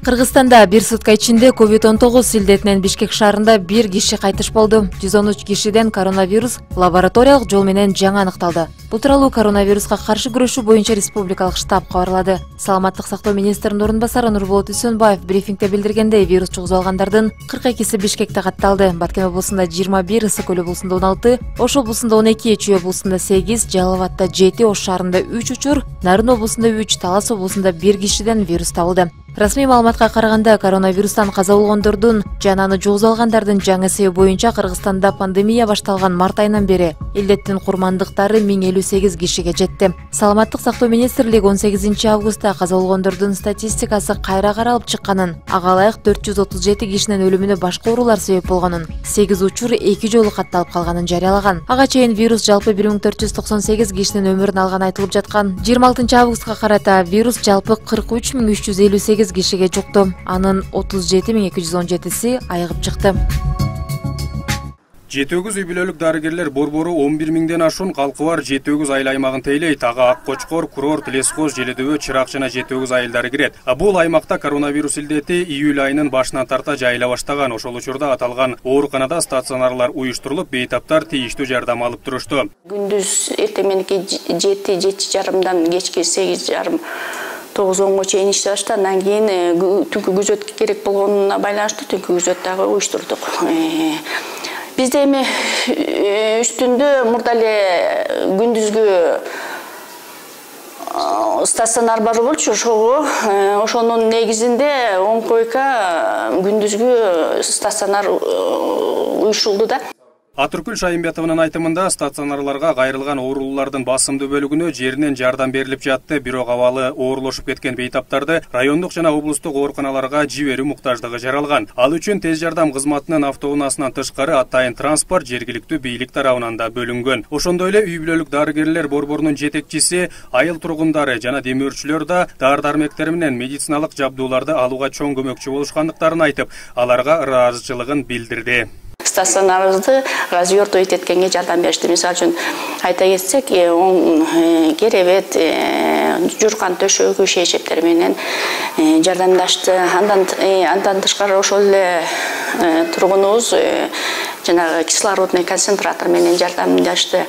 Кыргызстанда бир сутка ичинде COVID-19 илдетинен Бишкек шаарында 1 киши кайтыш болду. 113 кишиден коронавирус лабораториялык жол менен жаңы аныкталды. Бул тууралуу коронавируска каршы күрөшүү боюнча республикалык штаб кабарлады. Саламаттык сактоо министринин орун басары Нурболот Үсөнбаев брифингде билдиргендей, вирус чугузуп алгандардын 42си Бишкекте катталды. Баткен облусунда 21, Ысык Көл облусунда 16, Ош облусунда 12, Чүй облусунда 8, Жалал Абадта 7, Ош шаарында 3 учур, Нарын облусунда 3, Талас облусунда 1 кишиден вирус табылды. Расмий маалыматка караганда, коронавирустан каза болгондордун жана аны жугузуп алгандардын жаңы себеби боюнча Кыргызстанда пандемия башталган март айынан бери илдеттин курмандыктары 1058 кишиге жетти. Саламаттык сактоо министрлиги 18 августта каза болгондордун статистикасы кайра каралып чыкканын, ага ылайык 437 кишинин өлүмүнө башка оорулар себеп болгонун, 8 учур 2 жолу катталып калганын жарыялаган. Ага чейин вирус жалпы 1498 кишинин өмүрүн алганы айтылып жаткан. 26 августка карата вирус жалпы 43358 кишиге жукту. Анын 37217си айыгып чыкты. Жетөгүз үй бүлөлүк дарыгерлер борбору 11 миңден ашуун калкы бар Жетөгүз айыл аймагын тейлейт. Ага Ак Кочкор, Курорт, Лескоз, Желедөбө, Чырак жана Жетөгүз айылдары кирет. Бул аймакта коронавирус илдети июль айынын башынан тарта жайыла баштаган. Ошол учурда аталган ооруканада стационарлар уюштурулуп, бейтаптар тийиштүү жардам алып турушту. Күндүз эртең мененки 7-7:30 кечки 8:30 9-10 чейин иштеп баштады. Андан кийин түнкү күзөт керек болгонуна байланыштуу түнкү күзөт дагы уюштурдук. Бизде эми үстүндө мурда эле күндүзгү стационар бар болчу, ошонун негизинде 10 койка күндүзгү стационар уюштурулду да. Атыркүл Шайымбетованын айтымында, стационарларга кайрылган оорулуулардын басымдуу бөлүгүнө жеринен жардам берилип жатты. Бирок абалы оорулошуп кеткен бейтаптарды райондук жана облустук ооруканаларга жиберүү муктаждыгы жаралган. Ал үчүн тез жардам кызматынын автоунаасынан тышкары атайын транспорт жергиликтүү бийлик тарабынан да бөлүнгөн. Ошондой эле үй бүлөлүк дарыгерлер борборунун жетекчиси айыл тургундары жана демөөрчүлөр да дары-дармектер менен медициналык жабдууларды алууга чоң көмөкчү болушкандыктарын айтып, аларга ыраазычылыгын билдирди. Стационарыбызды развернуть эткенге жардам беришти. Мисалы үчүн айта кетсек, керебет, журкан төшөгү шейшептер менен жардамдашты. Андан тышкары ошол эле тургунубуз жанагы кислородный концентратор менен жардамдашты.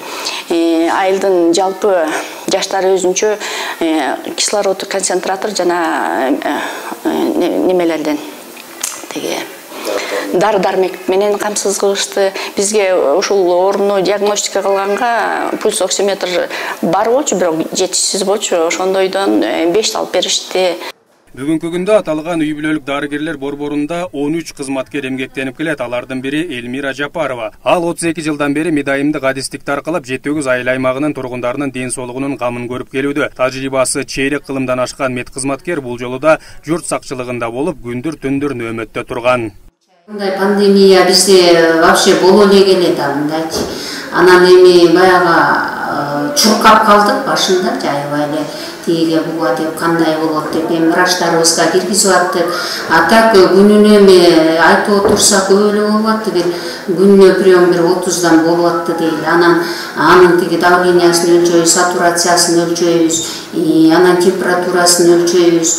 Айылдын жалпы жаштары өзүнчө кислород концентратор жана немелерден дары-дармек менен камсыз кылышты. Бизге ушул ооруну диагностика кылганга пульс оксиметр бар болчу, бирок жетишсиз болчу. Ошондойдон 5 алып беришти. Бүгүнкү күндө аталган үй бүлөлүк дарыгерлер борборунда 13 кызматкер эмгектенип келет. Алардын бири Элмира Жапарова. Ал 32 жылдан бери медайымдык адистикти аркылап Жетөгүз айыл аймагынын тургундарынын ден соолугунун камын көрүп келүүдө. Тажрыйбасы чейрек кылымдан ашкан медкызматкер бул жолу да журт сакчылыгында болуп, күндүр-түндүр нөөмөттө турган. Мындай пандемия бизде вообще боло эле келет мындайчы. Анан эми баягы чуркап калдык башында, жайбай эле тиге буга деп кандай болот деп эми врачтарыбызга киргизип аттык. А так күнүнө эми айтып отурсак көп эле болуп атты, бир күнүнө прием 30дан болуп атты дейли. Анын тиги давлениясын өлчөйбүз, сатурациясын өлчөйбүз, анан температурасын өлчөйбүз.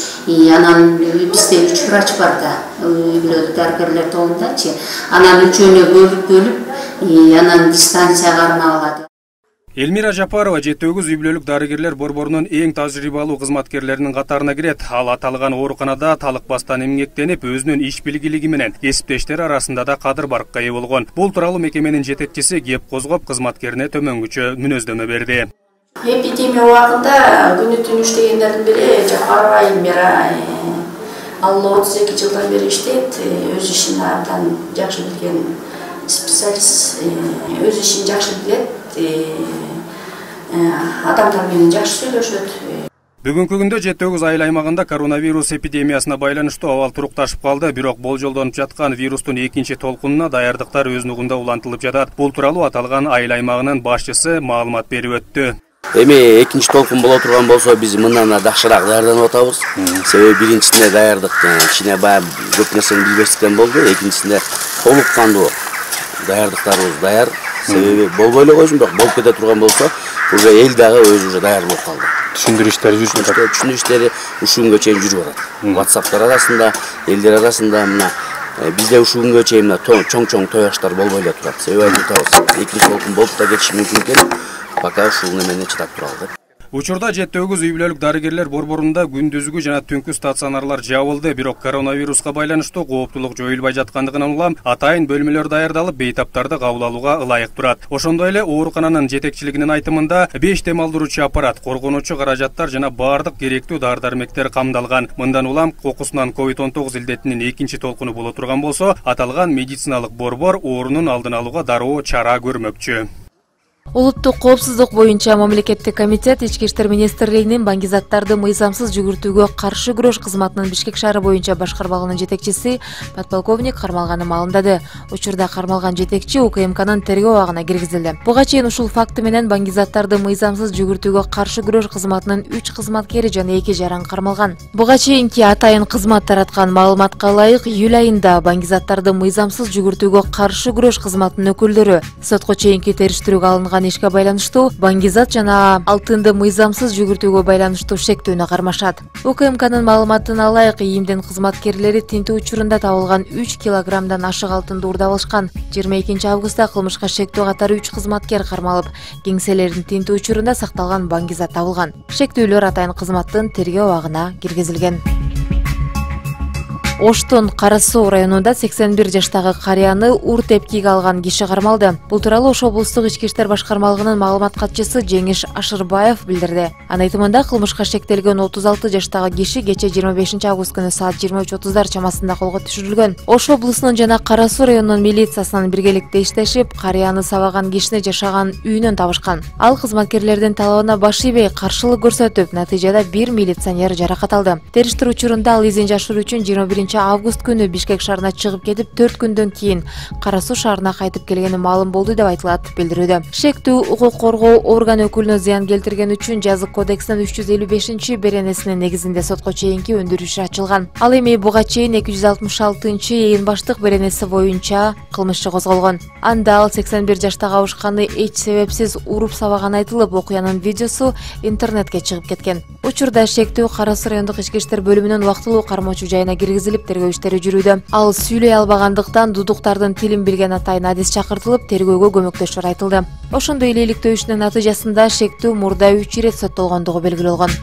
Анан бизде 3 врач бар да, үй бүлөлүк дарыгерлер тобундачы. Анан үчөөнө бөлүп, анан дистанцияга арналат. Элмира Жапарова Жетөгүз үй бүлөлүк дарыгерлер борборунун эң тажрыйбалуу кызматкерлеринин катарына кирет. Ал аталган ооруканада талыкпастан эмгектенип, өзүнүн иш билгилиги менен кесиптештери арасында да кадыр баркка ээ болгон. Бул тууралуу мекеменин жетекчиси кеп козгоп кызматкерине төмөнгүчө мүнөздөмө берди. Эпидемия убагында күнү-түн иштегендердин бири Жапарова Элмира. Ал 32 жылдан бери иштейт, өз ишин абдан жакшы билген специалист, өз ишин жакшы билет. Адамдар менен жакшы сүйлөшөт. Бүгүнкү күндө Жетөгүз айыл аймагында коронавирус эпидемиясына байланыштуу абал турукташып калды, бирок болжолдонуп жаткан вирустун экинчи толкунуна даярдыктар өз нугунда улантылып жатат. Бул тууралуу аталган айыл аймагынын башчысы маалымат берип өттү. Эми экинчи толкун боло турган болсо биз мындан дакшыраак даярданып атабыз. Себеби биринчисинде даярдык кичине баягы көп нерсени билбестиктен болду, экинчисинде толук кандуу даярдыктарыбыз даяр. Себеби болбой эле койсун, бирок болуп кете турган болсо, уже эл дагы өзү уже даяр болуп калды. түшүндүрүү иштери жүрүп жатат. Түшүндүрүү иштери ушул күнгө чейин жүрүп атат. WhatsApp'тар арасында, элдер арасында мына бизде ушул күнгө чейин мына чоң тояштар болбой эле турат. Себеби айтып атабыз, экинчи толкун болуп да кетиши мүмкүн экен. Пока ушул немене чыдап туралы деп. Учурда 7 үй бүлөлүк дарыгерлер борборунда күндүзгү жана түнкү стационарлар жабылды, бирок коронавируска байланыштуу кооптулук жоюлбай жаткандыгынан улам атайын бөлмөлөр даярдалып, бейтаптарды кабыл алууга ылайык турат. Ошондой эле оорукананын жетекчилигинин айтымында 5 дем алдыруучу аппарат, коргонуучу каражаттар жана баардык керектүү дары-дармектер камдалган. Мындан улам кокусунан COVID-19 илдетинин экинчи толкуну боло турган болсо, аталган медициналык борбор оорунун алдын алууга дароо чара көрмөкчү. Улуттук коопсуздук боюнча мамлекеттик комитет Ички иштер министрлигинин баңгизаттарды мыйзамсыз жүгүртүүгө каршы күрөш кызматынын Бишкек шаары боюнча башкармалыгынын жетекчиси подполковник Кармалганды маалымдады. Учурда кармалган жетекчи УКМКнын тергөө абагына киргизилди. Буга чейин ушул факты менен баңгизаттарды мыйзамсыз жүгүртүүгө каршы күрөш кызматынын 3 кызматкери жана 2 жаран кармалган. Буга чейинки атайын кызмат тараткан маалыматка ылайык, июль айында баңгизаттарды мыйзамсыз жүгүртүүгө каршы күрөш кызматынын өкүлдөрү сотко чейинки териштирүүгө алынган ишке байланыштуу баңгизат жана алтынды мыйзамсыз жүгүртүүгө байланыштуу шектүүнү кармашат. УКМКнын маалыматына ылайык, ИИМдин кызматкерлери тинтүү учурунда табылган 3 килограммдан ашык алтынды уурдап алышкан. 22 августта кылмышка шектүү катары 3 кызматкер кармалып, кеңселердин тинтүү учурунда сакталган баңгизат табылган. Шектүүлөр атайын кызматтын тергөө абагына киргизилген. Оштун Кара Суу районунда 81 жаштагы карыяны ур тепкиге алган киши кармалды. Бул тууралуу Ош облустук ички иштер башкармалыгынын маалымат катчысы Жеңиш Ашырбаев билдирди. Анын айтымында кылмышка шектелген 36 жаштагы киши кече 25 август күнү саат 23:30 чамасында колго түшүрүлгөн. Ош облусунун жана Кара Суу районунун милициясынын биргеликте иштешип, карыяны сабаган кишини жашаган үйүнөн табышкан. Ал кызматкерлердин талабына баш ийбей каршылык көрсөтүп, натыйжада 1 милиционер жаракат алды. Териштирүү учурунда ал изин жашыруу үчүн 21 август күнү Бишкек шаарына чыгып кетип, 4 күндөн кийин Кара Суу шаарына кайтып келгени маалым болду деп айтылат билдирүүдө. Шектүү укук коргоо орган өкүлүнө зыян келтирген үчүн жазык кодексинин 355 беренесинин негизинде сотко чейинки өндүрүү иши ачылган. Ал эми буга чейин 266 ээн баштык беренеси боюнча кылмыш иши козголгон. Анда ал 81 жаштагы абышканы эч себепсиз уруп сабаганы айтылып, окуянын видеосу интернетке чыгып кеткен. Учурда шектүү Кара Суу райондук ички иштер бөлүмүнүн убактылуу кармоочу жайына киргизилип, тергөө иштери жүрүүдө. Ал сүйлөй албагандыктан дудуктардын тилин билген атайын адис чакыртылып, тергөөгө көмөктөшөр айтылды. Ошондой эле иликтөөчүнүн натыйжасында шектүү мурда 3 ирет соттолгондугу белгилүү болгон.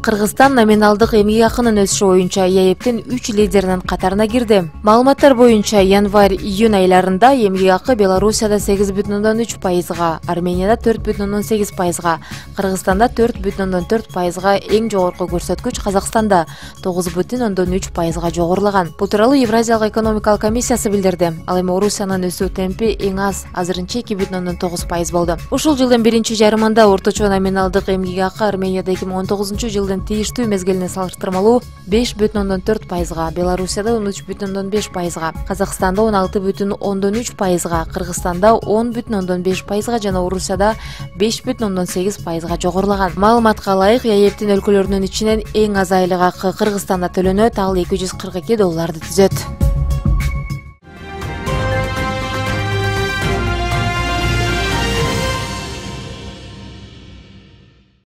Кыргызстан номиналдык эмгек акынын өсүшү боюнча ЕЭПтин 3 лидеринин катарына кирди. Маалыматтар боюнча январь-июнь айларында эмгек акы Белоруссияда 8,3%, Арменияда 4,8%, Кыргызстанда 4,4%, эң жогорку көрсөткүч Казакстанда 9,3%га жогорулаган. Бул тууралуу Евразиялык экономикалык комиссиясы билдирди. Ал эми Орусиянын өсүү темпи эң аз, азырынча 2,9% болду. Ушул жылдын биринчи жарымында орточо номиналдык эмгек акы Арменияда 2019-жылдын тийиштүү мезгилине салыштырмалуу 5,4%, Белоруссияда 13,5%, Казакстанда 16,3%, Кыргызстанда 10,5% жана Орусияда 5,8%га жогорулаган. Маалыматка ылайык, ЕЭПтин өлкөлөрүнүн ичинен эң аз айлык акы Кыргызстанда төлөнөт, ал $242 түзөт.